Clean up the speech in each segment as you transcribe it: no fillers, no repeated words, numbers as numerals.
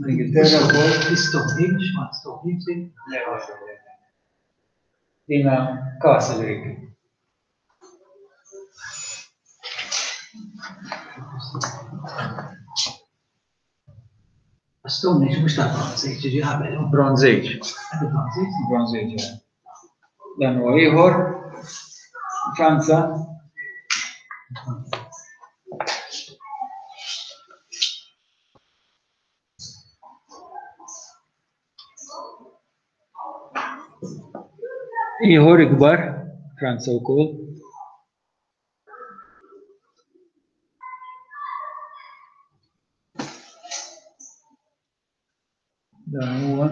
L-Ingilterra wkoll. L-Stonehenge, ma Stonehenge. Le, le, le. Dina Castle Rig. Stone Age mhux tal-Bronze Age, ġi qabel. Bronze Age. Bronze Age. Bronze Age. Dan huwa ieħor. Franza. Ieħor ikbar, Franza wkoll. Dan huwa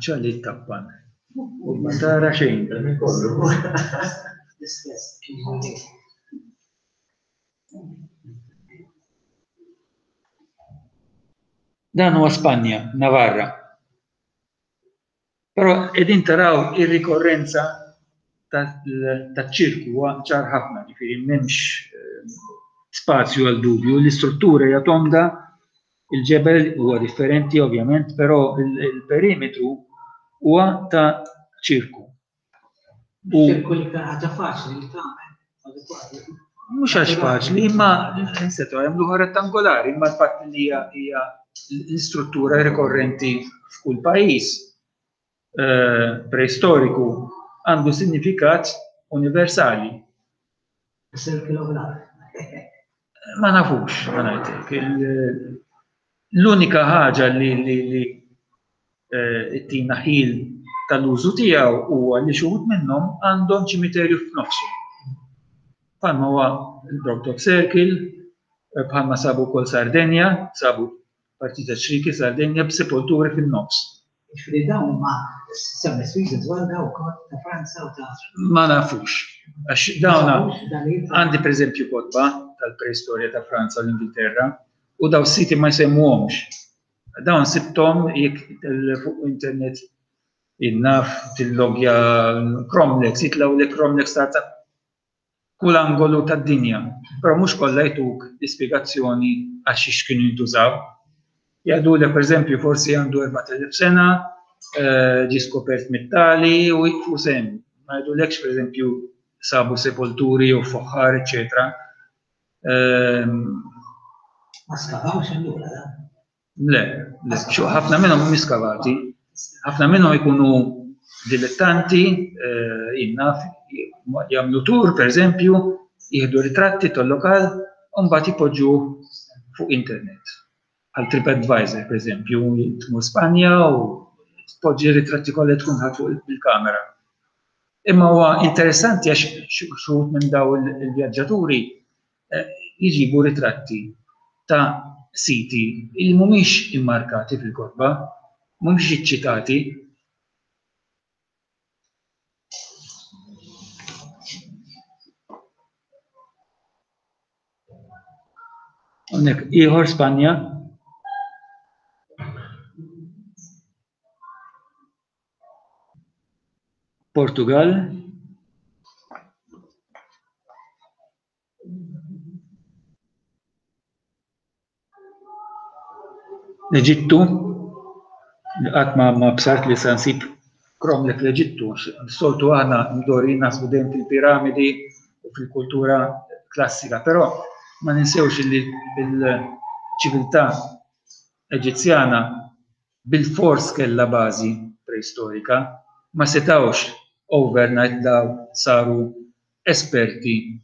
ċalli tappan. U ma tara xejn. L-istess. Dan huwa Spanja, Navarra. Però qegħdin taraw ir-rikorrenza taċ-ċirku huwa ċar ħafna, ġifieri m'hemmx eh, spazju għal dubju, l-istruttura hija tonda, il-ġebel huwa differenti ovvjament, però il-perimetru huwa ta' ċirku. U ċirku l-iktar ħaġa faċli li tagħmel. Mhux għax faċli, imma setgħu jagħmluha rettangolari, imma l-fatt li hija l-istruttura rikorrenti f'kull pajjiż eh, preistoriku għandu sinifikat universali. Ma nafux, ma ngħidlek. L-unika ħaġa li li eh, tina ħil tal-użu tiegħu huwa li xi wħud minnhom għandhom ċimiterju f'nofsu. Bħalma huwa l-Brock Circle, eh, bħalma sabu wkoll Sardenja, sabu partita ċriki Sardenja b'sepolturi fin-nofs. Ġifieri dawn huma semmi Swiss dwar daw ukoll ta' Franza u ta' Ma nafux. Għax dawn għandi pereżempju kotba tal-preistorja ta' Franza u l-Ingilterra u daw siti ma jsemmuhomx. Dawn sibthom jekk fuq internet innaf tillogja Cromlech, jitlgħu li Cromlech ta' kull angolu tad-dinja, però mhux kollha jtuk l-ispjegazzjoni għax xiex kienu jintużaw. Jgħidulek pereżempju forsi għandu 4000 sena, eh, ġie skopert mit-tali u jqfu sem. Ma jgħidulekx pereżempju sabu sepolturi jew foħħar, eċetera. Ehm, Ma skavawx allura da? Le, le, ħafna minnhom mhumiex skavati. Ħafna minnhom ikunu dilettanti, eh, jinnaf, jagħmlu tur, pereżempju, jieħdu ritratti tal-lokal u mbagħad jpoġġu fuq internet. Għal TripAdvisor, pereżempju, tmur Spanja u tpoġġi ritratti kollha tkun ħadd fuq il-kamera. Imma huwa interessanti għax xi minn daw il-vjaġġaturi eh, jġibu ritratti ta' siti li mhumiex immarkati fil-kotba, mhumiex iċċitati. Hawnhekk ieħor Spanja. Portugal. L-Eġittu, li qatt ma ma bsart li se nsib kromlek l-Eġittu, soltu aħna mdorrijin naħsbu dejjem fil-piramidi u fil-kultura klassika, però ma ninsewx li l-ċiviltà Eġizzjana bilfors kellha bażi preistorika, ma setgħux overnight daw saru esperti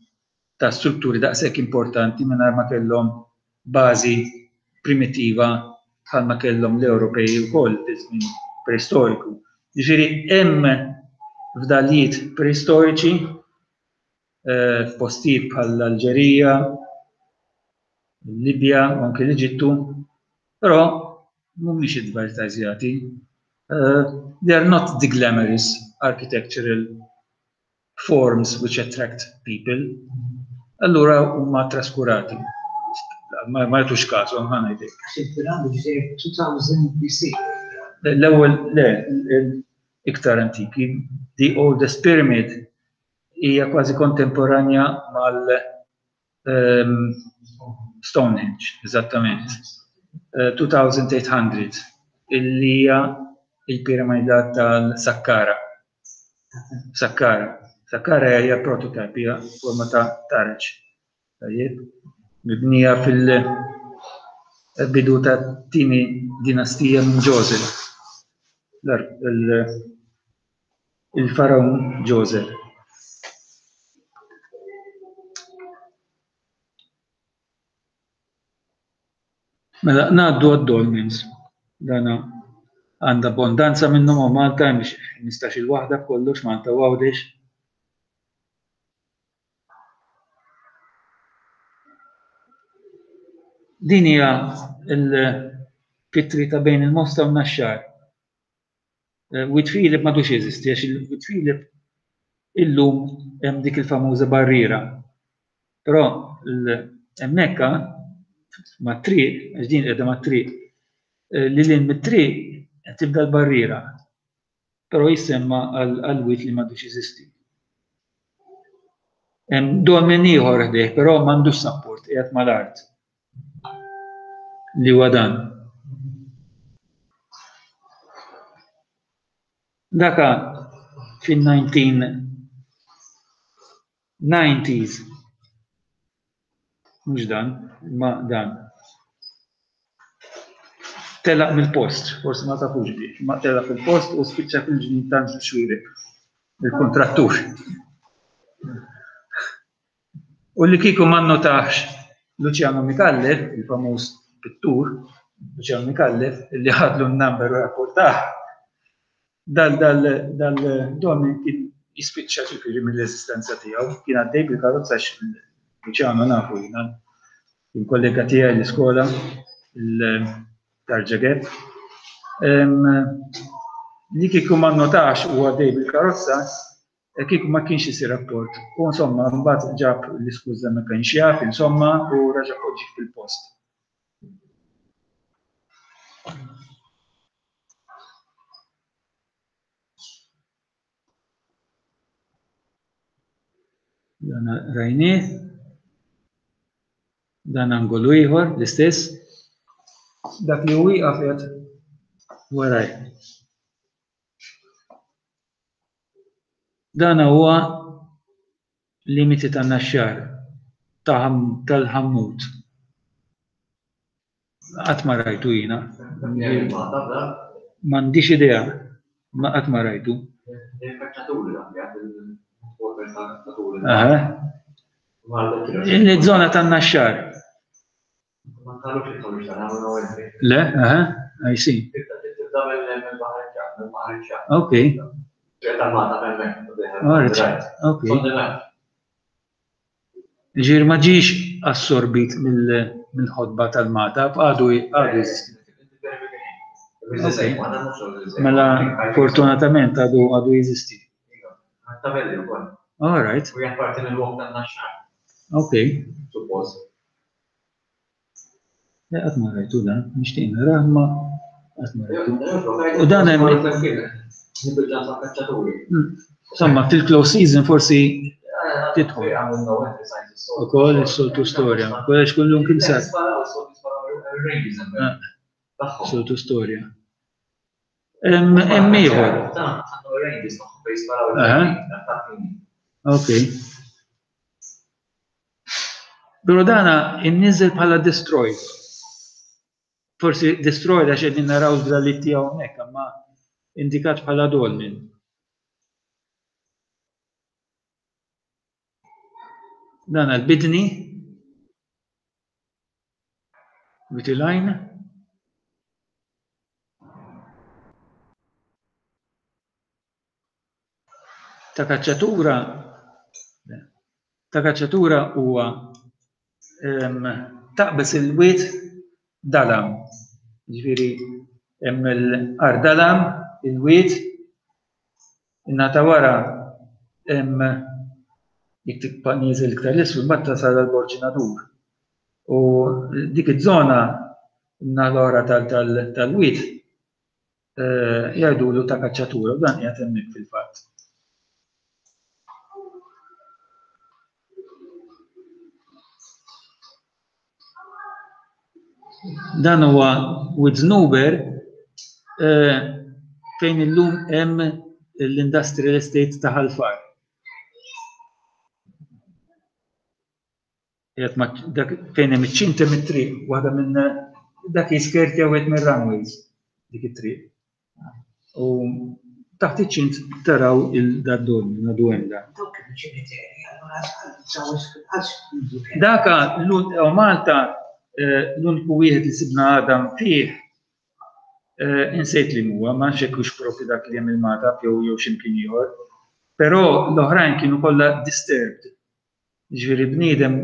ta' strutturi daqshekk importanti mingħajr ma kellhom bażi primittiva bħalma kellhom l-Ewropej ukoll fi żmien preistoriku. Jiġifieri hemm fdalijiet preistoriċi eh, f'postijiet bħall-Alġerija, il-Libja u anke l-Eġittu, però mhumiex advertisjati. Uh, they are not the glamorous architectural forms which attract people, allura huma traskurati. Ma ma jagħtux kasu, ħa ngħidlek. Għax il-piramidi ġej 2000 BC. L-ewwel le, iktar antiki, the oldest pyramid hija kważi kontemporanja mal Stonehenge, eżattament. 2800 eh, illi hija il-piramida tal-Sakkara. Sakkara. Sakkara hija prototype, hija forma ta' taraġ. Tajjeb. Mibnija fil-bidu ta' tieni dinastija minn Joseph. Il-Faraon Joseph. Mela, ngħaddu għad-dolmens. Dana għandha abbondanza minnhom hawn Malta, hemm xi 15-il waħda b'kollox Malta u Għawdex. Din hija l-pittri ta' bejn il-Mosta u n-Naxxar. Eh, Wied Filip m'għadux jeżisti għax il-Wied Filip illum hemm dik il-famuża barriera. Però hemmhekk mat-triq, għax din qiegħda mat-triq, eh, li lil mit-triq qed tibda l-barriera. Però jissemma għal wied li m'għadux jeżisti. Hemm dolmen ieħor ħdejh, però m'għandux sapport, qiegħed mal-art. Li huwa dan. Daka fin-1990s mhux dan, imma dan. Telaq mill-post, forsi ma tafux bih, imma telaq fil-post u spiċċa fil-ġnien ta' Xwirek, il-kontrattur. U li kieku ma nnotahx Luciano Micallef, il-famuż pittur Luciano Micallef, li ħadlu n-number u rapportah, dal dal dal dolmen kien jispiċċa ġifieri mill-eżistenza tiegħu, kien għaddej bil-karozza għax Luciano nafu jiena, kien kollega tiegħi l-iskola, il-Tarġa Gap. Li kieku ma nnotax u għaddej bil-karozza, Kieku ma kienx isir rapport. U insomma, mbagħad ġab l-iskuża ma kienx jaf, insomma, u raġa' poġġih fil-post. Dan rajnieh. Dan angolu ieħor, l-istess. Dak li hu wieqaf qiegħed waraj. Dan huwa limiti tan-Naxxar tal-Ħammut. Qatt ma rajtu jiena. M'għandix idea, ma qatt ma rajtu. Aha. Il-żona tan-Naxxar. Le, aha, I see. Ok. Ok. Ġir ma ġiex assorbit mill-ħodba tal-mata, għadu għadu jeżisti. Mela, fortunatament għadu għadu jeżisti. All right. Ok. Le qatt ma rajtu dan, nixtieq narah ma qatt ma rajtu. U dan hemm. Insomma, fil-close season forsi tidħol. Ukoll is-soltu storja. Għax kullum kien sar. Soltu storja. Hemm ieħor. Ok. Pero dana inniżel bħala destroyed. Forsi destroyed għax qegħdin naraw żbrallit tiegħu hawnhekk, imma indikat bħala dolmen. Dan l-bidni Witilajn. Ta' kaċċatura ta' kaċċatura huwa taqbeż il-wied dalam. Ġifieri hemm il-qar dalam, il-wied, in-naħa ta' wara hemm jekk tibqa' nieżel iktar 'l isfel imbagħad tasal għal Borġ Nadur. U dik iż-żona in-naħa l-oħra tal-wied jgħidulu ta' kaċċatura u dan qiegħed hemmhekk fil-fatt. Dan huwa Wied Żnuber fejn illum hemm l-Industrial Estate ta' Ħal Far. Qiegħed ma' dak fejn hemm iċ-ċint hemm it-triq, waħda minn dak jiskertja wieħed mir-runways dik it-triq. U taħt iċ-ċint taraw il-dad-dolmen, għadu hemm dan. Dawk kienu ċimiterji, allura għax Daka u Malta eh, l-uniku wieħed li sibna għadam fih eh, insejt li huwa, ma nafx hekk hux propju dak li hemm il-Magħtab jew jew x'imkien ieħor. Però l-oħrajn kienu kollha disturbed. Jiġifieri bniedem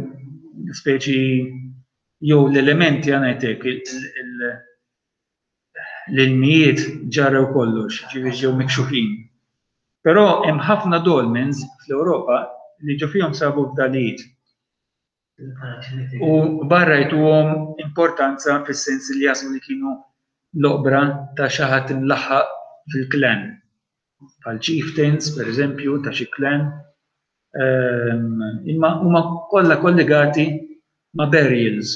speċi jew l-elementi ħa ngħid hekk, l-ilmijiet ġarrew kollox, ġifieri ġew mikxufin. Però hemm ħafna dolmens fl-Ewropa li ġo fihom sabu fdalijiet. U barra jtuhom importanza fis-sens li jaħsbu li kienu l-oqbra ta' xi ħadd imlaħħaq fil-klan. Bħal chieftains, per eżempju, ta' xi klan. Imma huma kollha kollegati ma' burials.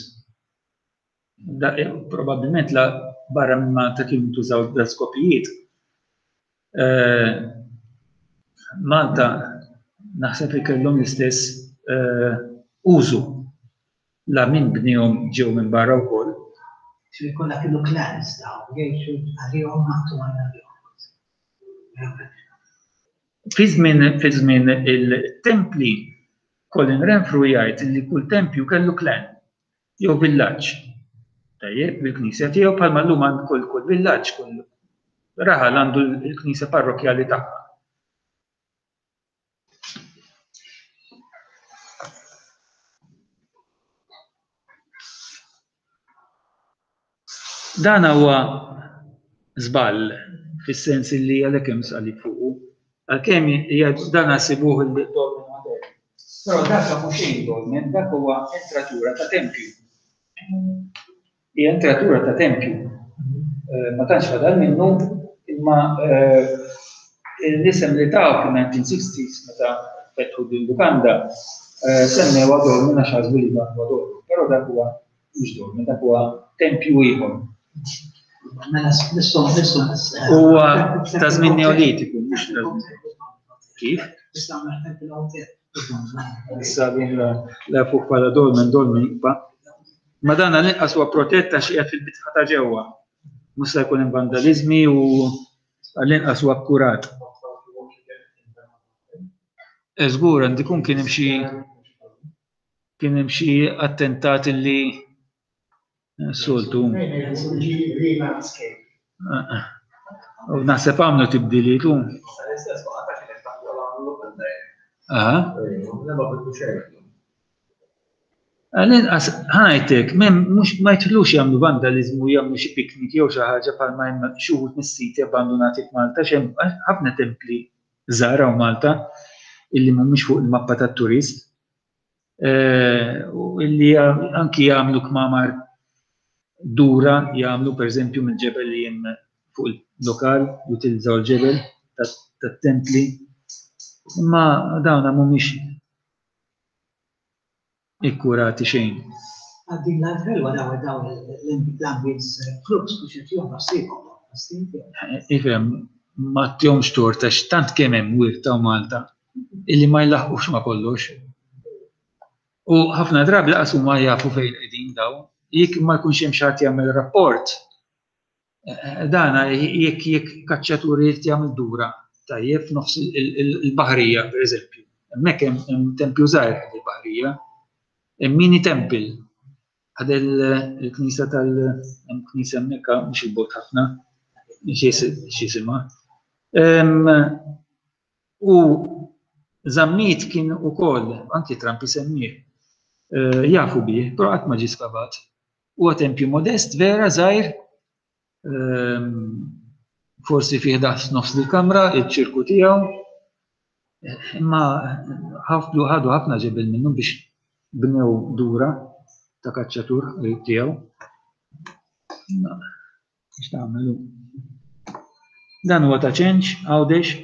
Probabbilment la barra minn Malta kienu ntużaw da skopijiet. Malta naħseb li kellhom l-istess użu. La min bniehom ġew minn barra wkoll. Ġifieri kollha kienu clans dawn, jgħixu għalihom ħadd ma jagħmilhom. Fi żmien fi żmien il-templi, Colin Renfrew jgħid li kull tempju kellu clan jew villaġġ. Tajjeb, bil-knisja tiegħu bħalma llum għand kull kull villaġġ, kull raħal għandu l-knisja parrokkjali tagħha. Dan huwa żball fis-sens li għalhekk hemm salib fuqu. Għalkemm jgħidu dan sibuh il-dolmen modern. Però dak mhux xejn dolmen, dak huwa entratura ta' tempju. Hija entratura ta' tempju. Eh, ma tantx fadal minnu, imma eh, l-isem li taw fil-1960s meta fetħu din lukanda, eh, semmewha dolmen għax ħasbu li dan huwa dolmen, però dak huwa mhux dolmen, dak huwa tempju ieħor. Mela nistgħu nistgħu Huwa ta' żmien Neolitiku, mhux ta' Kif? Issa din la fuq bħala dolmen, dolmen jibqa'. Ma dan għall-inqas huwa protett għax qiegħed fil-bitħa ta' ġewwa. Mhux se jkun hemm vandaliżmi u għall-inqas huwa kkurat. Eh, żgur għandi jkun kien hemm xi kien hemm xi attentat illi eh, soltu. Eh, eh. U naħseb għamlu tibdiliet u. Aha. Għall-inqas, ħa ngħidlek, mhux ma jidħlux jagħmlu vandaliżmu jagħmlu xi piknik jew xi ħaġa bħalma hemm xi wħud mis-siti abbandunati f'Malta għax hemm ħafna templi żgħar hawn Malta illi mhumiex fuq il-mappa tat-turist eh, u illi anki jagħmlu kmamar dura jagħmlu pereżempju mill-ġebel li hemm fuq il-lokal jutilizzaw il-ġebel tat-templi imma dawna mhumiex ikkurati xejn. Għal din l-art ħelwa daw daw l-ambience clubs biex qed jieħdu ħsiebhom Ifhem, ma tihomx tort għax tant kemm hemm wirt hawn Malta illi ma jlaħqux ma' kollox. U ħafna drabi laqas huma jafu fejn qegħdin daw. Jekk ma jkunx hemm xi ħadd jagħmel rapport, Dana jekk jekk kaċċatur irid jagħmel dura tajjeb f'nofs il-baħrija pereżempju. Hemmhekk hemm tempju żgħir ħdejn il-baħrija. Hemm mini temple ħdejn il-knisja tal hemm knisja hemmhekk mhux il-bogħod ħafna x'isimha. U Zammit kien ukoll, anki Trump isemmih, eh, jafu bih, però qatt ma ġie skavat. Huwa tempju modest vera żgħir, ehm, forsi fih daqs nofs il-kamra, iċ-ċirku tiegħu, imma ħafdu ħadu ħafna ġebel minnu biex bnew dura ta' kaċċatur tiegħu. Biex tagħmelu. Dan huwa ta' ċenċ, Għawdex.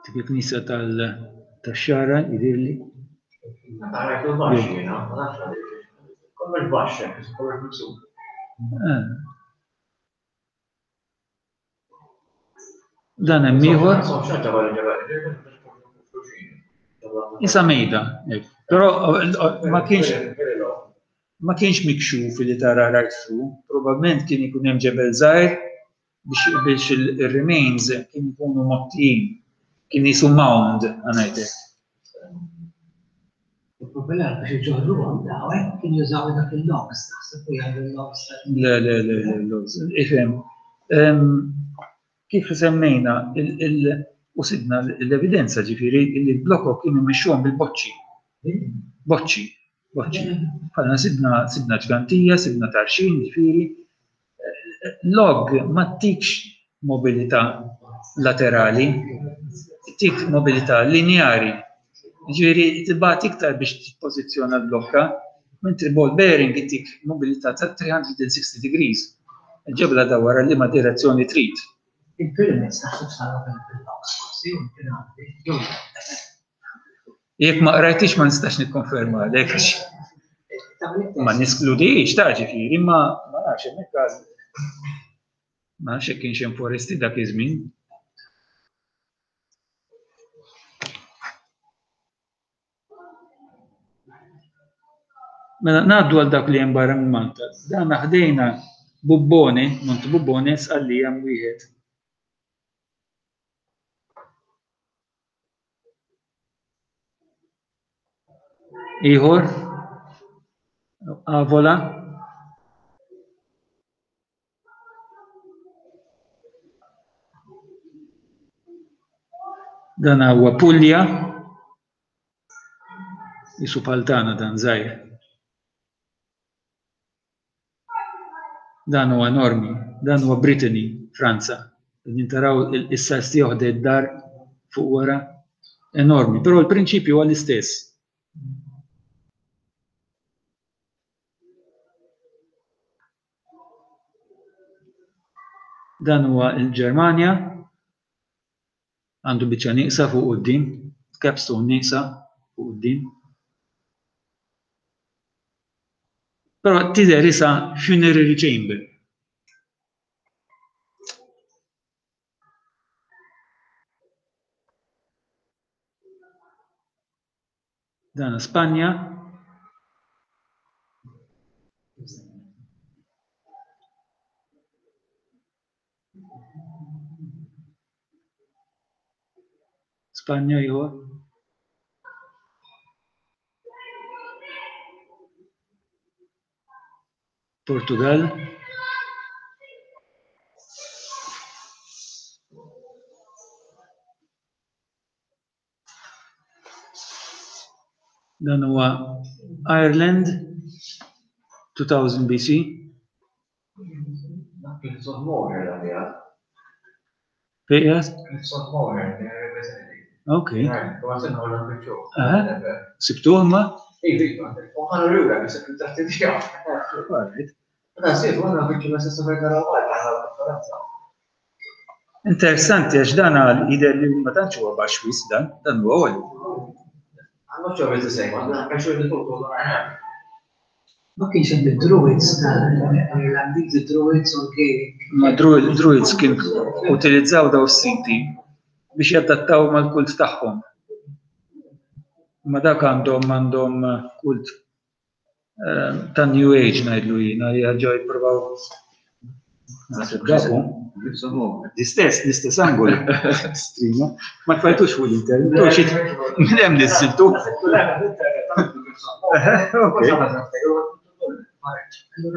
Dik il-knisja tax-Xagħra jidhirli. Dan hemm ieħor. Isa mejda, però ma kienx ma kienx mikxuf li tara right through, probabbilment kien ikun hemm ġebel żgħir biex il-remains kien ikunu mottijin, kien jisu mound, għanajtek. Il-problema biex iġorruhom daw, eh, kien jużaw dak il-logs, naħseb u jgħidu l-logs. Le, le, le, le, logs. Ifhem, kif semmejna, u sibna l-evidenza ġifieri li l-blokok kienu jmexxuhom bil-boċċi. Boċċi, boċċi. Bħalna sibna sibna ġgantija, sibna tarxin, ġifieri. Log ma ttikx mobilità laterali, tik mobilità lineari. Ġifieri tibgħat iktar biex tippożizzjona l-blokka, mentri ball bearing itik mobilità ta' 360 degrees. Il-ġebla dawwar għal liema direzzjoni trid. Il-pyramids naħseb saru bil-blocks forsi, u l-piramidi, jew le. Jekk ma qrajtix ma nistax nikkonferma għalek. Ma niskludix ta' ġifieri, ma ma nafx hemmhekk għal ma nafx jekk kienx hemm foresti dak iż-żmien. Mela ngħaddu għal dak li hemm barra minn Malta. Dan ħdejna Bubbone, Monte Bubbone, sqallija hemm wieħed. Ieħor, Avola. Dan huwa Puglia. Jisu paltana dan żgħir. Dan huwa enormi, dan huwa Brittany, Franza. Qegħdin taraw is-size tiegħu ħdej id-dar fuq wara. Enormi, però l-prinċipju huwa l-istess. Dan huwa l-Ġermanja. Għandu biċċa nieqsa fuq quddiem, capstone nieqsa fuq quddiem. Però tidher isa funerary chamber. Dan Spanja. Spanja ieħor. Portugal. Dan huwa Ireland 2000 BC. Fejn qiegħed? Ok. Sibtuh ma? Interessanti għax dan għal jidher li ma tantx huwa baxx wisq dan, dan huwa għoli. I'm not sure if it's the same one, I'm sure the photos are I have. Ma kienx hemm id-Druids tal-Irlandiżi, Druids u l-Gaelic. Ma Druids kien utilizzaw daw s-siti biex jadattaw mal-kult tagħhom. Ma dak għandhom għandhom kult ta' New Age ngħidlu jiena li jerġgħu jippruvaw naħseb dak hu. L-istess, l-istess angol. Strina. Ma tfajtux fuq l-internet. Minn hemm niżiltu.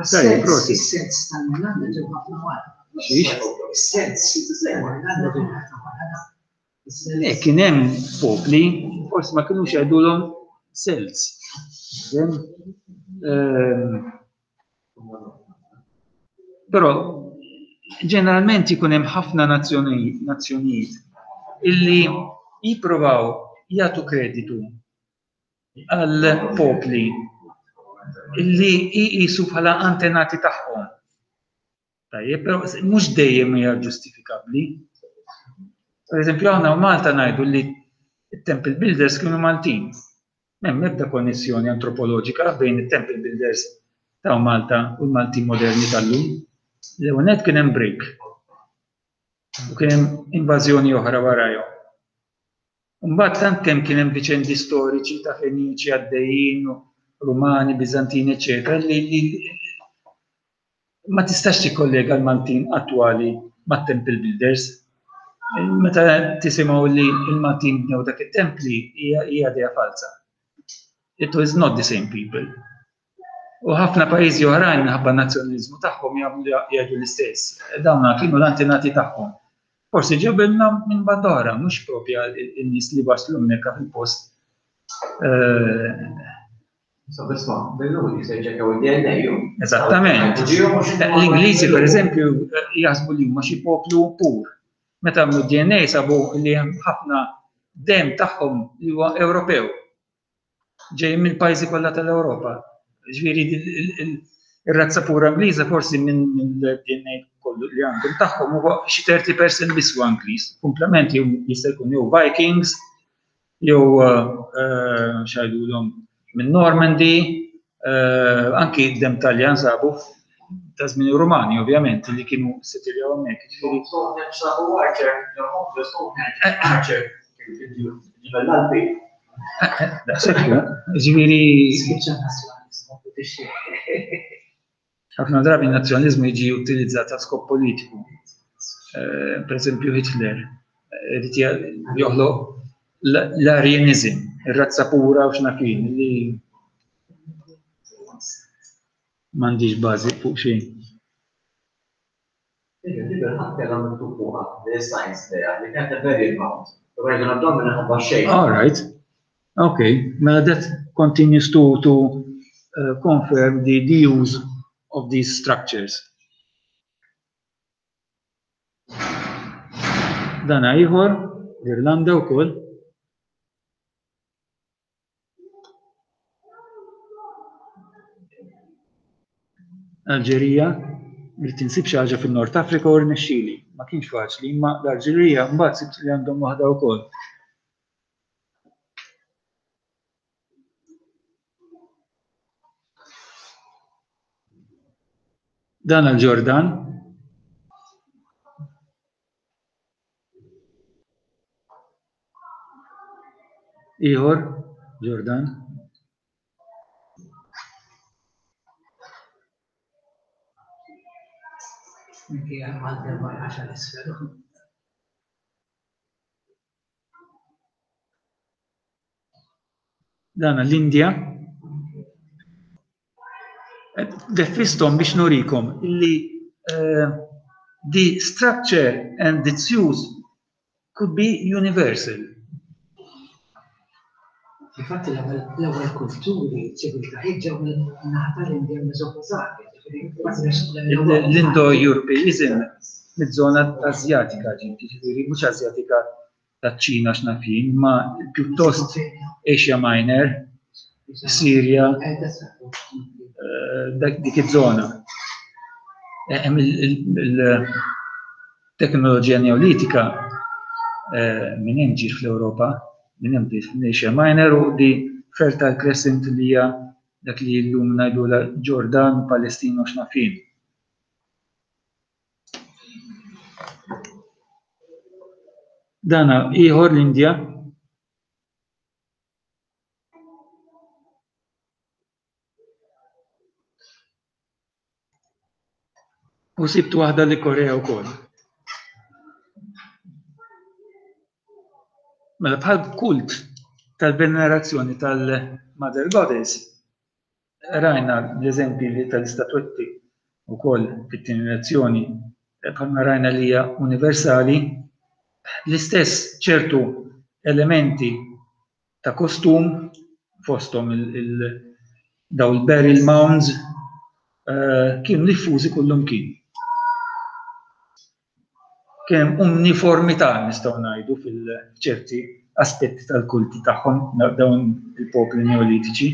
Tajjeb, prosit. Is-sens tal-Irlanda ġew ħafna wara. Xiex? Is-sens tal-Irlanda ġew ħafna wara. Le, kien hemm popli, forsi ma kinux jgħidulhom Celts. Ehm, però ġeneralment ikun hemm ħafna nazzjonijiet illi jipprovaw jagħtu kreditu għal popli illi jqisu bħala antenati tagħhom. Tajjeb, però mhux dejjem hija ġustifikabbli. Per eżempju, aħna Malta ngħidu li t-Temple Builders kienu Maltin. M'hemm ebda konnessjoni antropoloġika bejn it-Temple Builders ta' Malta u l-Maltin moderni tal-lum. L-ewwel nett kien hemm break u kien hemm invażjoni oħra warajhom. Imbagħad tant kemm kien hemm viċendi storiċi ta' Feniċi għaddejjin, Rumani, Biżantini, eċċetera, li, li ma tistax tikkollega l-Maltin attwali mat-Temple Builders. Meta tisimgħu li l-Maltin bnew dak it-templi hija idea falsa. It was not the same people. U ħafna pajjiżi oħrajn minħabba n-nazzjonaliżmu tagħhom jagħmlu jgħidu l-istess. Dawna kienu l-antenati tagħhom. Forsi ġew minna minn banda oħra, mhux propja n-nies li waslu hemmhekk fil-post. Eh, Eżattament. L-Ingliżi, per eżempju, jaħsbu li huma xi poplu pur. Meta għamlu DNA sabu li hemm ħafna dem tagħhom li huwa Ewropew. Ġej mill-pajjiżi kollha tal-Ewropa. Ġifieri ir-razza pura Ingliża forsi minn DNA kollu li għandhom tagħhom huwa xi 30% biss huwa Ingliż. Komplement jista' jkun jew Vikings, jew eh, xajdulhom minn Normandy, eh, anki dem Taljan sabu ta' żmien Rumani ovvjament li kienu settiljaw hemmhekk. Sabu Archer, Archer, ġibel l-Alpi. Daqshekk, ġifieri. Ħafna drabi n-nazzjonaliżmu jiġi utilizzat għal skop politiku. Eh, per eżempju Hitler irid joħloq l-Aryanizm, ir-razza pura u x'nafin li m'għandix bażi fuq xejn. All right. Okay, mela that continues to, to uh, confirm the, the use of these structures. Dana ieħor, l-Irlanda wkoll. Alġerija, rrid insib xi ħaġa fin-Nord Afrika u rnexxieli. Ma kienx faċli, imma l-Alġerija mbagħad sibt li għandhom waħda wkoll. Dan għal-Ġordan. Ieħor, Ġordan. Dan l-Indja. Defistom biex nurikom illi eh, the structure and its use could be universal. Infatti l-ewwel kulturi ċiviltajiet ġew min-naħa tal-Indja Mesopotamja. L-Indo-Europeism miż-żona Asjatika ġiet, jiġifieri mhux Asjatika taċ-Ċina x'naf jien, imma pjuttost Asia Minor, Sirja, eh, dik iż-żona. Eh, hemm il-teknoloġija neolitika eh, minn hemm ġiet fl-Ewropa, minn hemm ġiet Asia Minor u di Fertile Crescent li hija dak li llum ngħidulha Ġordan, Palestina u x'naf jien. Dana ieħor l-Indja. U sibt waħda li Korea wkoll. Mela bħal kult tal-venerazzjoni tal-Mother Goddess, Rajna l-eżempji li tal-istatwetti wkoll fit-tieni lezzjoni, bħalma rajna li hija universali, l-istess ċertu elementi ta' kostum fosthom daw il-burial mounds eh, kienu diffużi kullum kien. Kien hemm uniformità nistgħu ngħidu fil-ċerti aspetti tal-kulti tagħhom dawn il-popli neolitiċi.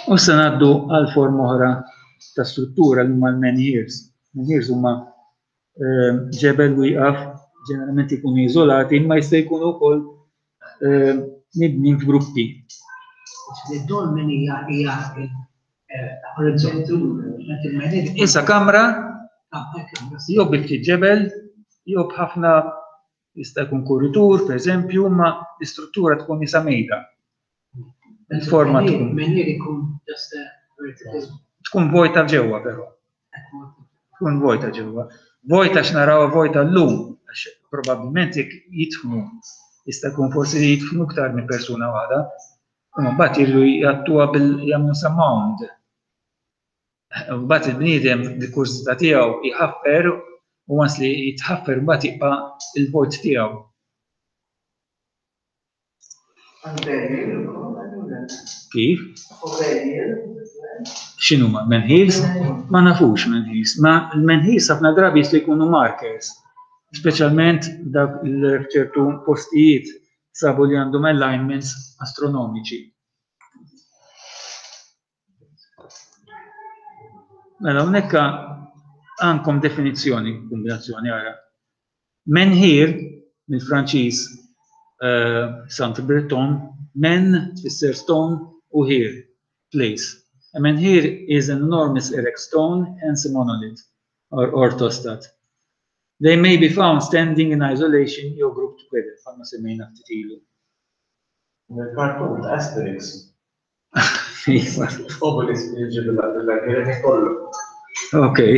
U se ngħaddu għal forma oħra ta' struttura li huma l-menhirs. Menhirs huma ehm, ġebel wieqaf, Ġeneralment ikunu iżolati, imma jista' jkunu wkoll eh, mibnin f'gruppi. Id-dolmen hija hija orizzontu Isa kamra, jew bi ftit ġebel, jew b'ħafna jista' jkun kuritur, pereżempju, ma l-istruttura tkun isa mejda. Il-forma tkun. Menhir ikun just a vertical. Tkun vojta ġewwa però. Tkun vojta ġewwa. Vojta x'naraw vojta llum, għax probabbilment jekk jidħnu jista' jkun forsi jidħnu iktar minn persuna waħda. Imma mbagħad jridu jgħattuha bil jagħmlu sa mound. Mbagħad il-bniedem bil-kurżità tiegħu jħaffer u once li jitħaffer mbagħad jibqa' il-vojt tiegħu. Kif? X'inhuma menhirs? Ma nafux menhirs. Ma l-menhirs ħafna drabi jistgħu jkunu markers, speċjalment dak ċertu postijiet sabu li għandhom alignments astronomiċi. Mela hawnhekk għandkom definizzjoni, kombinazzjoni ara. Menhir, mill-Franċiż eh, Sant Breton, men tfisser stone u here, place. A menhir is an enormous erect stone, hence a monolith, or orthostat. They may be found standing in isolation jew grouped together, bħalma semmejna ftit ilu. Mill-kartun ta' Asterix. Obelisk li ġib l-għagħiret kollu. Okay.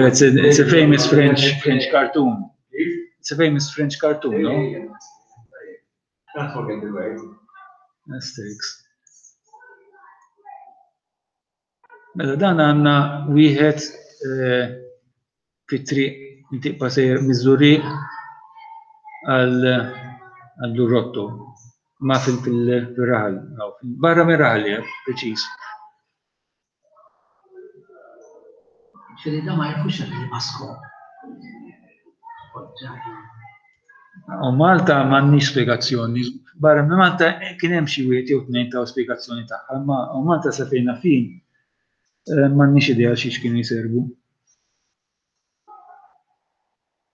It's a, it's a famous French French cartoon. It's a famous French cartoon, no? Can't forget the word. Asterix. Mela dan għandna wieħed eh, fit-triq li tibqa' sejjer miż-Żurrieq għal Lurotto, ma fil-raħal, barra mir-raħal jgħid, preċiż. Ġifieri da ma jafux għal masko. U Malta m'għandniex spjegazzjoni. Barra minn Malta kien hemm xi wieħed jew tnejn taw spjegazzjoni tagħha, imma u Malta sa fejna fin eh, m'għandniex idea xiex kienu jservu.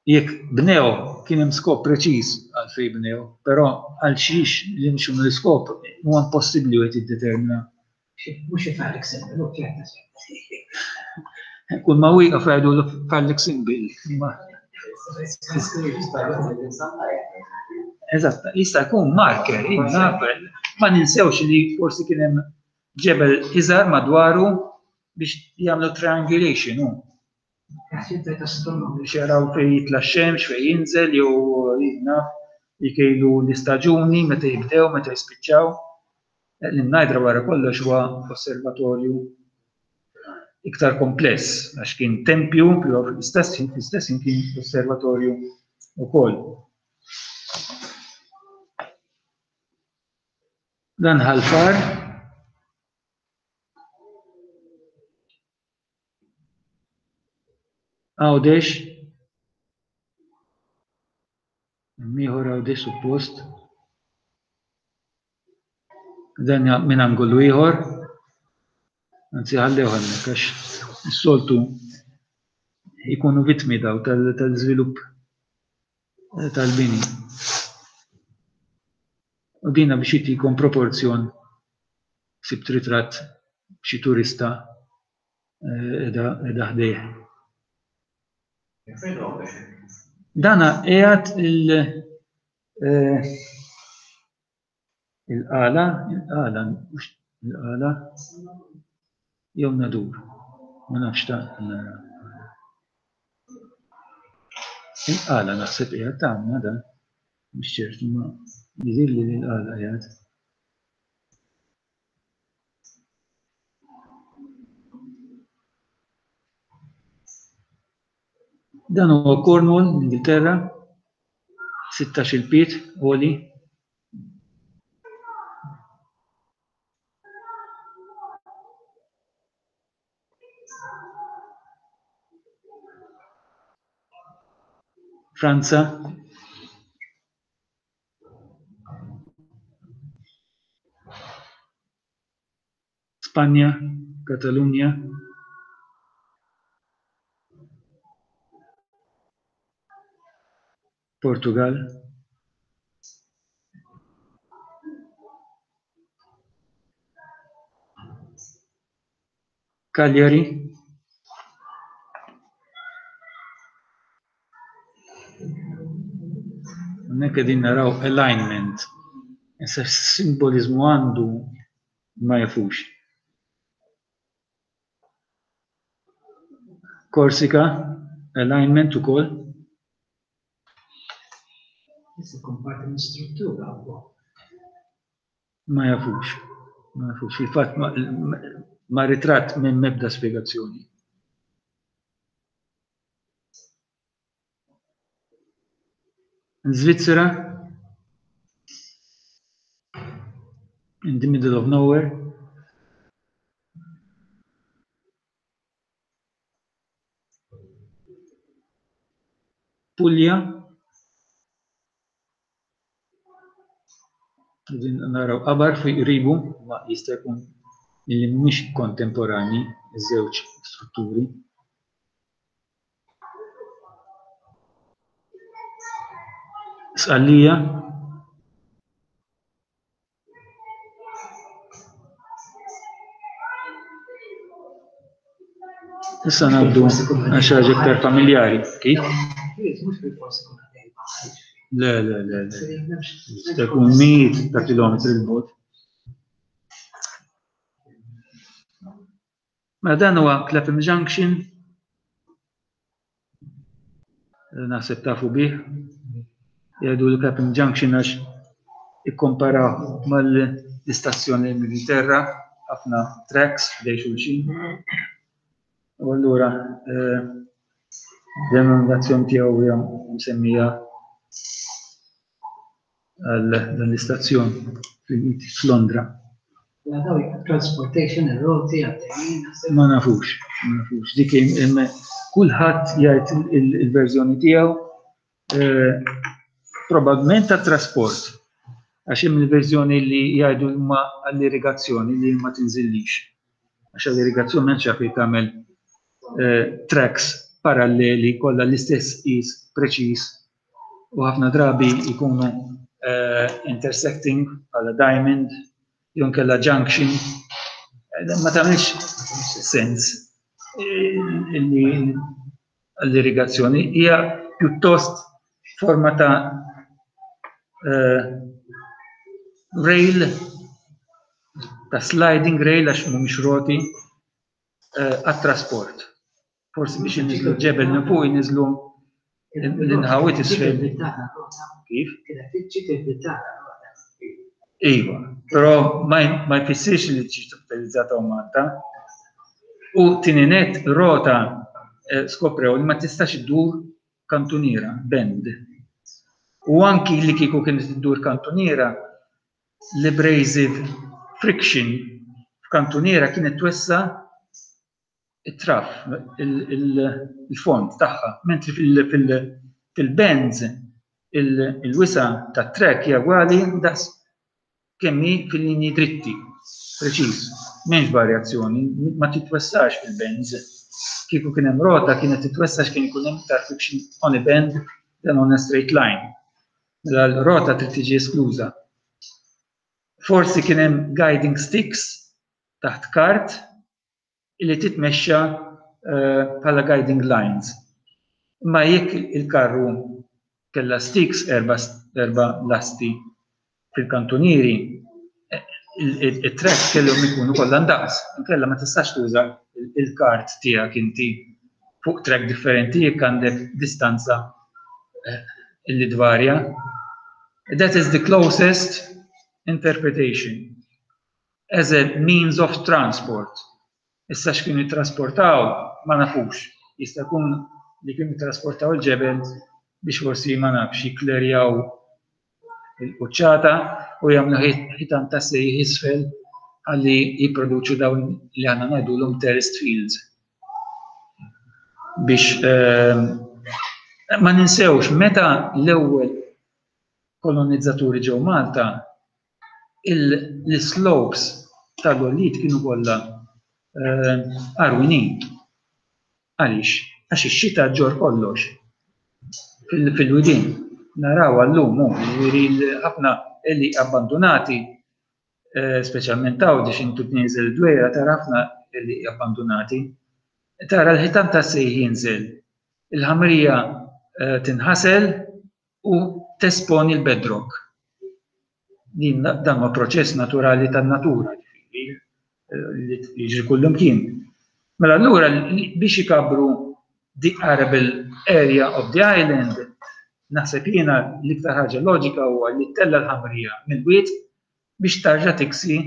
Jekk bnew kien hemm skop preċiż għal fejn bnew, però għal xiex li mxu l-iskop huwa impossibbli wieħed jiddetermina. Mhux phallic symbol, u ċerta Kull ma wieqaf jgħidu phallic symbol. Eżatt, jista' jkun marker, ma ninsewx li forsi kien hemm ġebel iżgħar madwaru biex jagħmlu triangulation hu. Biex jaraw fejn jitla' x-xemx, fejn jinżel jew naf jkejlu l-istaġuni meta jibdew, meta jispiċċaw. L-Imnajdra wara kollox huwa osservatorju iktar kompless għax kien tempju, però fl-istess ħin fl-istess ħin kien osservatorju wkoll. Dan ħalfar Għawdex. Ieħor Għawdex suppost. Dan minn angolu ieħor. Anzi ħallew hemmhekk għax is-soltu jkunu vittmi daw tal-żvilupp tal-bini. U dina biex jtikom proporzjon sibt ritratt b'xi turista qiegħda ħdejh. Dana qiegħed il il-qala, il-qala, mhux il-qala, jew nadur, ma nafx ta' nara. Il-qala naħseb qiegħed tagħna dan, mhux ċert imma jidhirli li l-qala qiegħed. Dan huwa Cornwall, l-Ingilterra, 16 il-pied għoli. Franza. Spanja, Katalunja. Portugal. Cagliari. Hawnhekk qegħdin naraw alignment. Issa x'simboliżmu għandu ma jafux. Korsika, alignment ukoll. Jista' jkun parti minn struttura wkoll. Ma jafux. Ma jafux. Fil-fatt ma ritratt minn mebda spjegazzjoni. Svizzera in the middle of nowhere. Puglia. Qegħdin naraw qabar fi qribu ma jista' jkun li mhumiex kontemporanji iż-żewġ strutturi. Sqallija. Issa ngħaddu għal xi ħaġa iktar familjari. Kif? Le, le, le, le. Jista' jkun mijiet ta' kilometri 'l bogħod. Mela dan huwa Clapham Junction. Naħseb tafu bih. Jgħidu li Clapham Junction għax ikkomparaw mal-istazzjon l-Ingilterra, ħafna tracks ħdej xulxin. U allura eh, denominazzjoni tiegħu hija msemmija għal dan l-istazzjon f'Londra. Transportation, ir-roti għaddejjin. Ma nafux, ma nafux. Dik kulħadd jgħid il-verżjoni tiegħu eh, probabbilment ta' trasport. Għax hemm il-verżjoni li jgħidu huma għall-irrigazzjoni li ma tinżillix. Għax għall-irrigazzjoni m'hemmx għalfejn tagħmel eh, tracks paralleli kollha l-istess qis preċiż u ħafna drabi jkunu eh, intersecting bħala diamond jew nkella junction. Eh, ma tagħmilx sens eh, li l-irrigazzjoni hija pjuttost forma ta' rail ta' sliding rail għax mhumiex roti għat-trasport. Forsi biex inniżlu ġebel minn fuq inniżlu l-inħawit isfel. Kif? Iva, però ma jfissirx li ġiet utilizzata u Malta. U tieni net rota eh, skoprew li ma tistax iddur kantuniera, bend. U anki li kieku kienet iddur kantuniera, l-abrasive friction f'kantuniera kienet twessa it-traf, il-fond tagħha, mentri fil-bends il-wisa' tat-track hija ugwali daqs kemm hi fil-linji dritti, preċiż, m'hemmx varjazzjoni, ma titwessax fil-bends. Kieku kien hemm rota kienet titwessa għax kien ikun hemm iktar friction on a bend than on a straight line. Mela l-rota trid tiġi eskluża. Forsi kien hemm guiding sticks taħt kart li titmexxa eh, bħala guiding lines. Imma jekk il-karru kellha sticks erba, erba lasti fil-kantunieri, eh, it-track kellhom ikunu kollha ndaqs, inkella ma tistax tuża il-kart tiegħek inti fuq track differenti jekk għandek distanza eh, illi tvarja. That is the closest interpretation. As a means of transport. Issa x'kienu jittrasportaw ma nafux. Jista' jkun li kienu jittrasportaw il-ġebel biex forsi ma nafx jikklerjaw il-quċċata u jagħmlu ħitan ta' sejħ isfel ħalli jipproduċu dawn li aħna ngħidulhom terraced fields. Biex ehm, ma ninsewx meta l-ewwel kolonizzaturi ġew Malta, l-islopes tal-għoljiet kienu kollha għarwinin. Għaliex? Għax ix-xita ġġorr kollox fil-widien. Naraw għallum, jiġifieri ħafna li abbandunati, eh, speċjalment Għawdex intu tnieżel dwejra tara ħafna li abbandunati. Tara l-ħitan ta' sejħ jinżel, il-ħamrija eh, tinħasel u tesponi l-bedrock. Din dan huwa proċess naturali tan-natura, ġifieri, eh, li jiġri kullimkien. Mela allura biex ikabru the arable area of the island, naħseb jiena l-iktar ħaġa loġika huwa li ttella' l-ħamrija mill-wied biex tarġa' tiksi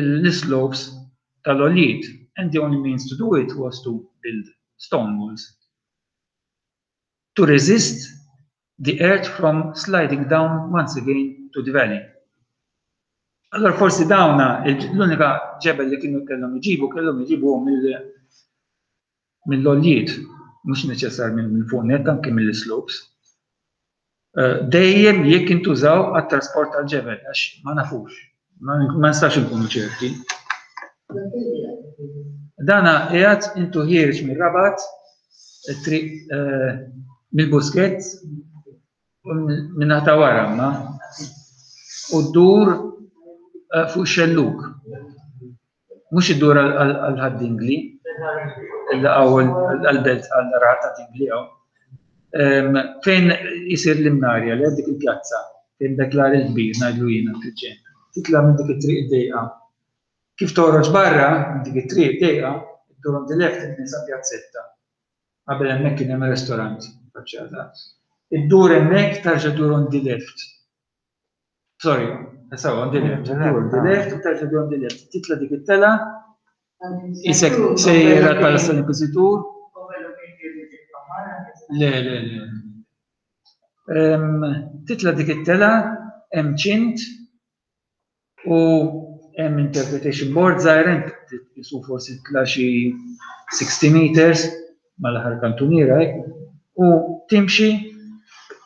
l-slopes tal-għoljiet. And the only means to do it was to build stone walls. To resist the earth from sliding down once again to the valley. Allora forsi dawna l-unika ġebel li kienu kellhom iġibu kellhom iġibu mill-għoljiet, mhux neċessar minn fuq net anke mill-slopes. Eh, dejjem jekk intużaw għat-trasport tal-ġebel, għax ma nafux, ma nistax inkunu ċerti. Dana qiegħed intu ħiereġ mir-Rabat, triq eh, mill-Buskett, minn ta' wara ma, u ddur eh, fuq xelluk. Mhux iddur għal Ħad-Dingli, għall-belt għall-raħal ta' Dingli hawn. Fejn isir l-imnarja li dik il-pjazza, fejn dak l-għar il-kbir ngħidlu jiena fil-ġenb. Titla' minn dik it-triq id-dejqa. Kif toħroġ barra minn dik it-triq dejqa, iddur on the left tinsa pjazzetta. Qabel hemmhekk kien hemm restaurant faċċata. Iddur hemmhekk tarġa' ddur on the left. Sorry, sawa, on the left, on the left, u terġa' on the left. Titla dik it-tela, isek sejjer għal Palazzo tal-Inkwiżitur. Le, le, le. Titla dik it-tela, hemm ċint u hemm interpretation board żgħir jisu forsi tla xi 60 meters mal-aħħar kantuniera hekk, u timxi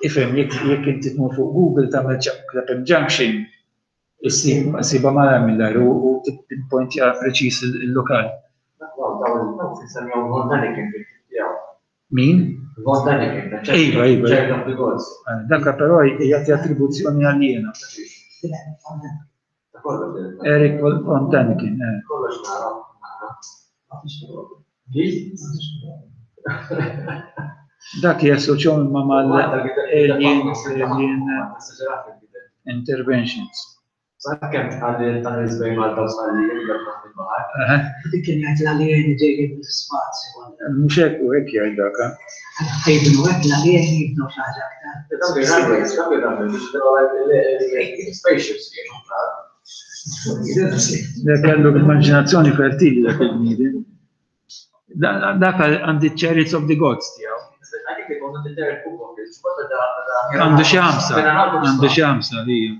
ifhem jekk inti tmur fuq Google tagħmel Clapham Junction issibha malajr mill-ajru u tippointja preċiż il-lokal. Min? Iva, iva. Dak però jagħti attribuzzjoni għal jiena. Eric von Däniken. Eh. Kollox nara. Dak jassoċjahom imma mal-alien alien interventions. Sakemm tqalli ta' nies bejn Malta u Sqallija li jgħaddu taħt il-baħar. Dik kien jgħid l-alieni ġejjin mill-ispazju. Mhux hekk u hekk jgħid dak. Jibnu hekk l-alieni jibnu xi ħaġa aktar. Dak ir-runways, dak ir-runways biex spaceships kienu. Dak kellu immaġinazzjoni fertili dak il-bniedem. Dak għandi Chariots of the Gods tiegħu. Għandu xi ħamsa, għandu xi ħamsa hija.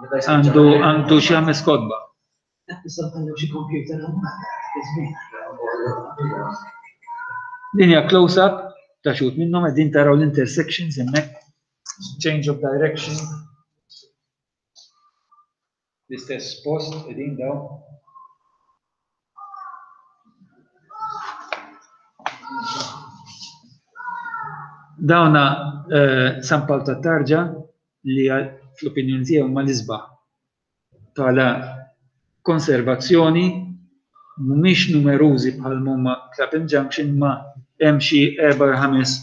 Għandu għandu xi ħames kotba. Din hija close-up ta' xut minnhom qegħdin taraw l-intersections hemmhekk, change of direction. L-istess post qegħdin daw. Dawna eh, San Pawl ta' Tarġa li fl-opinjoni tiegħi huma l-isbaħ bħala konservazzjoni mhumiex numerużi bħal huma Clapham Junction ma hemm xi erba' ħames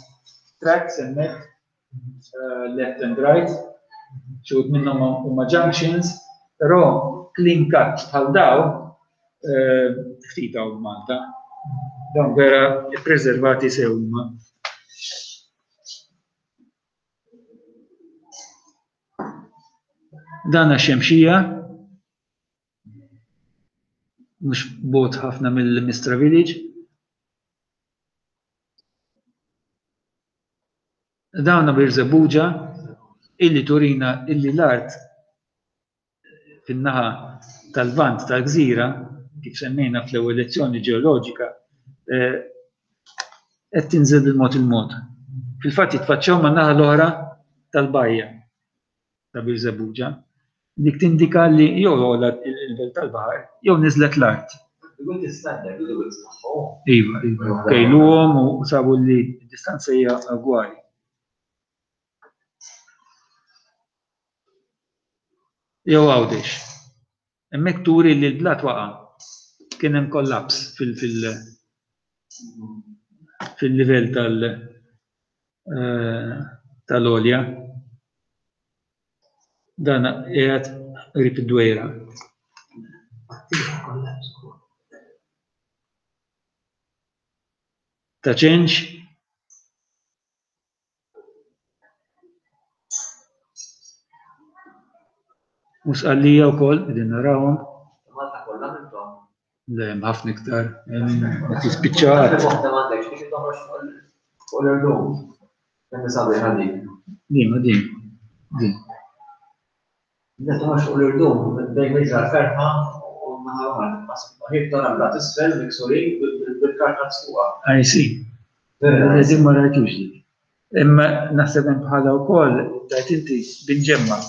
tracks hemmhekk left and right, xi wħud minnhom huma junctions, però clean cut bħal daw eh, ftit hawn Malta. Dawn vera ppreservati sew huma. Dan xemxija mhux bogħod ħafna mill-Mistra Village. Dawna Birżebbuġa illi turina illi l-art fin-naħa tal-Lvant tal-gżira, kif semmejna fl-ewwel lezzjoni ġeoloġika, eh, qed tinżel bil-mod il-mod. Fil-fatt jitfaċċaw man-naħa l-oħra tal-bajja. ta' Birżebbuġa, dik tindika li jew għola il-livell tal-baħar jew niżlet l-art. Iva, iva, kejluhom u sabu li d-distanza hija ugwali. Jew Għawdex. Hemmhekk turi li l-blat waqa'. Kien hemm kollaps fil fil fil-livell tal tal-għolja. Dan qiegħed qrib id-Dwejra. Ta' Ċenċ. U Sqallija wkoll qegħdin narawhom. Malta kollha minnhom. Le, hemm ħafna iktar. Ma tispiċċa qatt. Waħda m'għandekx biex toħroġ fuq l-irdum. Kemm sabiħa dik. Din, din. Din. Meta toħroġ fuq l-irdum bejn miġra l-ferħa u naħa l-oħra ħib tara bla tisfel miksurin bil-karta fuqha. I see. Din ma rajtux dik. Imma naħseb hemm bħala wkoll tajt inti binġemma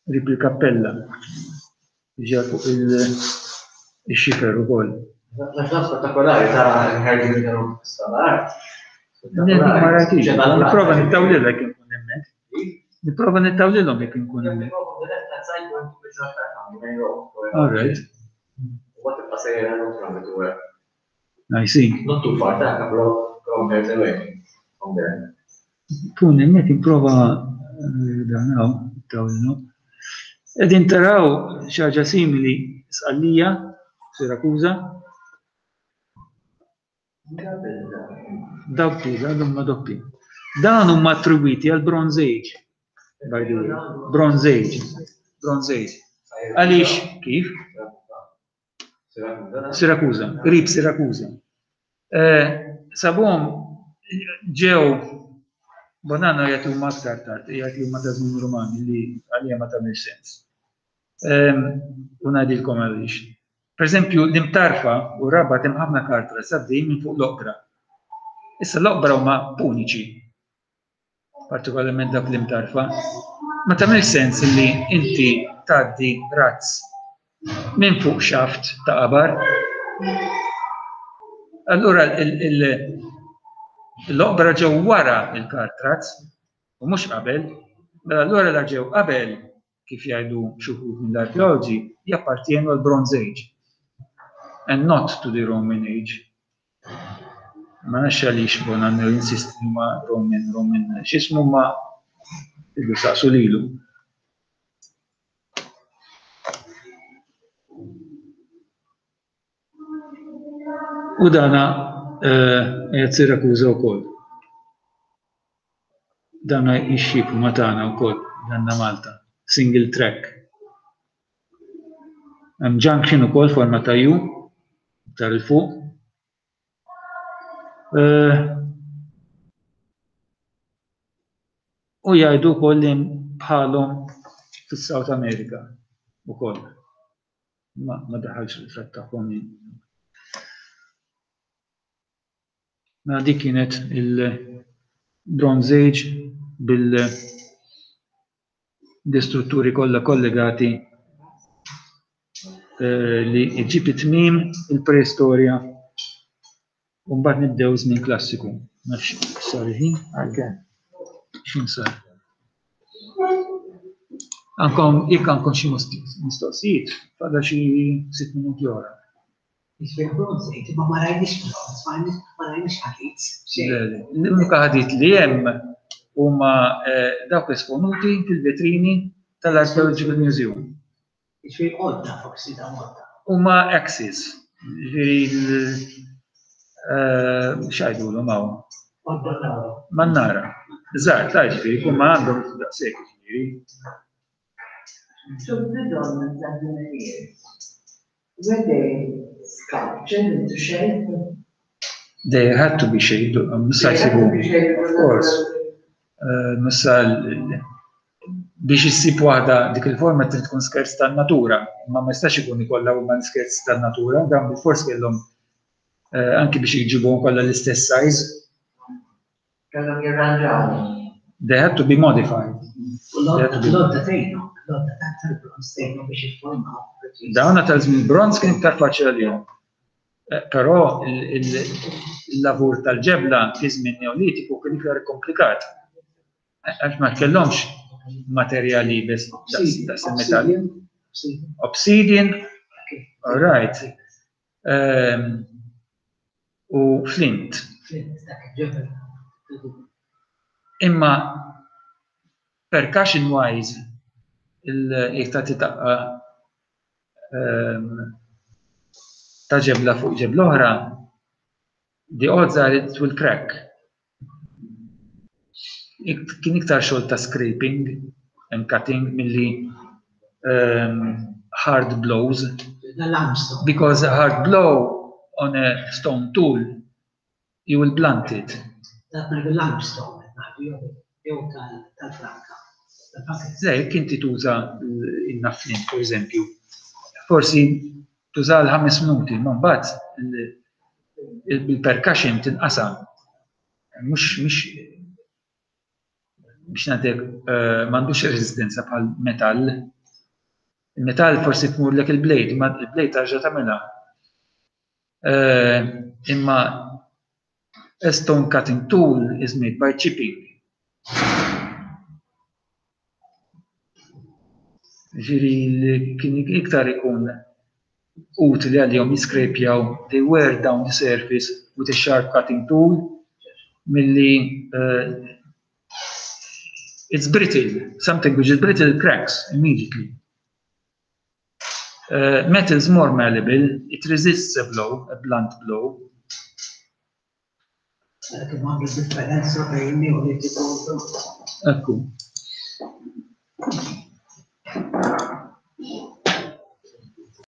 qrib il-kappella. Ġa fuq il-xifer ukoll. Naħseb spettakolari tara l-ħerġin li kienu fis-salar. Ma rajtux. Nipprova nittawlilha jekk inkun hemmhekk. Nipprova nittawlilhom jekk inkun hemmhekk. All right. I see. Not too far, ta' couple of kilometers away from there. Kun hemmhekk nipprova eh, dan hawn, nittawlilhom. Qegħdin taraw xi ħaġa simili Sqallija, Sirakuża. Dawk dawn huma doppi. Dawn huma attribwiti għal Bronze Age. By the way. Bronze Age. Bronze Age. Għaliex kif? Sirakuża, qrib Sirakuża. Eh, sabhom ġew Bonanno jgħid huma aktar tard, jgħid li huma ta' żmien Rumani li għalija ma tagħmilx sens. Ehm, u ngħidilkom għaliex. Per eżempju, l-imtarfa u r-Rabat hemm ħafna kartras għaddejjin minn fuq l-oqbra. Issa l-oqbra huma puniċi, partikolarment dawk l-imtarfa. Ma tagħmilx sens li inti tgħaddi razz minn fuq xaft ta' qabar. Allura l-oqbra ġew wara il-kartraz u mhux qabel, mela allura la ġew qabel kif jgħidu xi wħud mill-arkeoloġi, jappartjenu għall-Bronze Age and not to the Roman Age. Ma nafx għaliex Bonanno jinsisti li huma Roman, Roman, x'ismu ma tridu saqsu lilu. U dana qiegħed Sirakuża wkoll. Dana jixxiebhu ma' tagħna wkoll, danna Malta, single track. Hemm junction ukoll forma ta' U, iktar 'il fuq. U jgħidu wkoll li hemm bħalhom fis-South America wkoll. Ma ma daħalx ritratt tagħhom jien. Mela dik kienet il-Bronze Age bil l-istrutturi kollha kollegati eh, li ġib it-tmiem il-preistorja u mbagħad nibdew żmien klassiku. Nafx sar il-ħin? X'in sar? Għandkom, jekk għandkom xi mistoqsijiet, fadal xi sitt minuti oħra. Jiġifieri bronze age, imma ma rajniex bronze, ma rajniex ħadid. L-unika ħadid li hemm huma eh, dawk esponuti fil-vetrini tal-Archaeological Museum. Jiġifieri għodda forsi dawn għodda. Huma axes, jiġifieri eh, x'għidulhom hawn? Mannara. Żgħar, ta' ġifieri, kun ma għandhom daqshekk ġifieri. So the dolmens and the menhirs, were they sculptured into shape? They had to be shaped, missa jsibu. Of course. Eh, missa biex issib waħda dik il-forma trid tkun skerz tan-natura, imma ma jistax ikun ikollha huma skerz tan-natura, dan bil-fors kellhom eh, anki biex jġibuhom kollha l-istess size. Kellhom jirranġawhom. They had to be modified. L-għodda tgħinhom, l-għodda tal-bronz tgħinhom biex jiffurmaw. Dawna tal-żmien bronz kien iktar faċli għalihom. Eh, però il-lavur tal-ġebla fi żmien Neolitiku kien iktar komplikat. Għax ma kellhomx materjal iebes daqs il-metall. Obsidian, all right. Ehm, u flint. Imma percussion wise, jek tagħti daqqa ehm, ta' ġebla fuq ġebla oħra, the odds are it will crack. Kien iktar xogħol ta' scraping and cutting milli um, hard blows. Because a hard blow on a stone tool, you will blunt it. Dak limestone, jew tal-franka. Le, jekk inti tuża in-naflin, per eżempju, forsi tuża l-ħames minuti, ma mbagħad il-percussion tinqasam. Mhux mhux biex ngħidlek eh, m'għandux resistenza bħal metall. Il-metall forsi tmurlek il-blade, ma il-blade tarġa' tagħmilha. Eh, imma a stone cutting tool is made by chipping. Ġifieri li kien iktar ikun utli għalihom jiskrepjaw they wear down the surface with a sharp cutting tool milli uh, it's brittle, something which is brittle cracks immediately. Uh, metal is more malleable, it resists a blow, a blunt blow. Kemm għandu differenza bejn Neolitiku u Ekku.